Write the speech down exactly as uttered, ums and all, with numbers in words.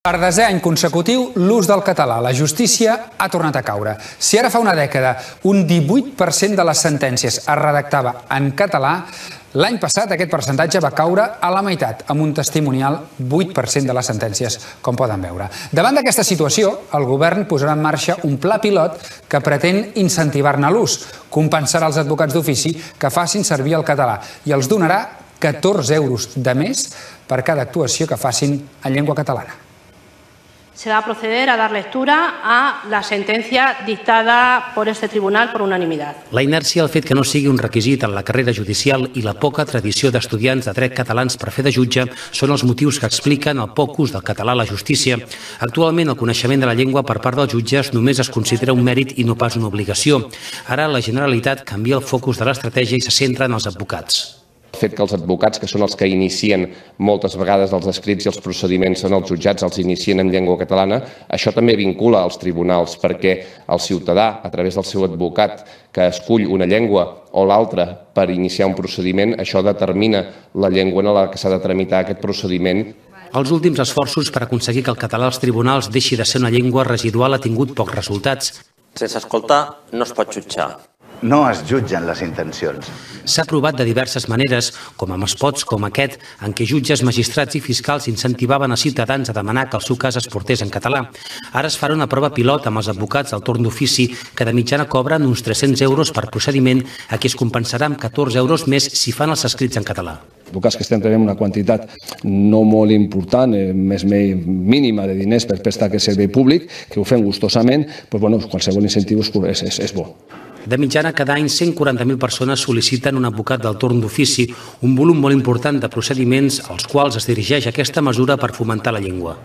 Per desè any consecutiu, l'ús del català a la justícia ha tornat a caure. Si ara fa una dècada un divuit per cent de les sentències es redactava en català, l'any passat aquest percentatge va caure a la meitat, amb un testimonial vuit per cent de les sentències, com poden veure. Davant d'aquesta situació, el govern posarà en marxa un pla pilot que pretén incentivar-ne l'ús, compensarà els advocats d'ofici que facin servir el català i els donarà catorze euros de més per cada actuació que facin en llengua catalana. Se va a proceder a dar lectura a la sentencia dictada por este tribunal por unanimidad. La inèrcia, el fet que no sigui un requisit en la carrera judicial i la poca tradició d'estudiants de dret catalans per fer de jutge són els motius que expliquen el poc ús del català a la justícia. Actualment, el coneixement de la llengua per part dels jutges només es considera un mèrit i no pas una obligació. Ara, la Generalitat canvia el focus de l'estratègia i se centra en els advocats. El fet que els advocats, que són els que inicien moltes vegades els escrits i els procediments en els jutjats, els inicien en llengua catalana, això també vincula als tribunals, perquè el ciutadà, a través del seu advocat, que escull una llengua o l'altra per iniciar un procediment, això determina la llengua en la que s'ha de tramitar aquest procediment. Els últims esforços per aconseguir que el català als tribunals deixi de ser una llengua residual ha tingut pocs resultats. Sense escoltar no es pot jutjar. No es jutgen les intencions. S'ha provat de diverses maneres, com amb spots com aquest, en què jutges, magistrats i fiscals incentivaven a ciutadans a demanar que el seu cas es portés en català. Ara es farà una prova pilot amb els advocats del torn d'ofici, que de mitjana cobren uns tres-cents euros per procediment, a qui es compensarà amb catorze euros més si fan els escrits en català. Advocats que estem rebent una quantitat no molt important, més mínima de diners per prestar aquest servei públic, que ho fem gustosament, doncs, bueno, qualsevol incentiu és, és, és bo. De mitjana, cada any cent quaranta mil persones sol·liciten un advocat del torn d'ofici, un volum molt important de procediments als quals es dirigeix aquesta mesura per fomentar la llengua.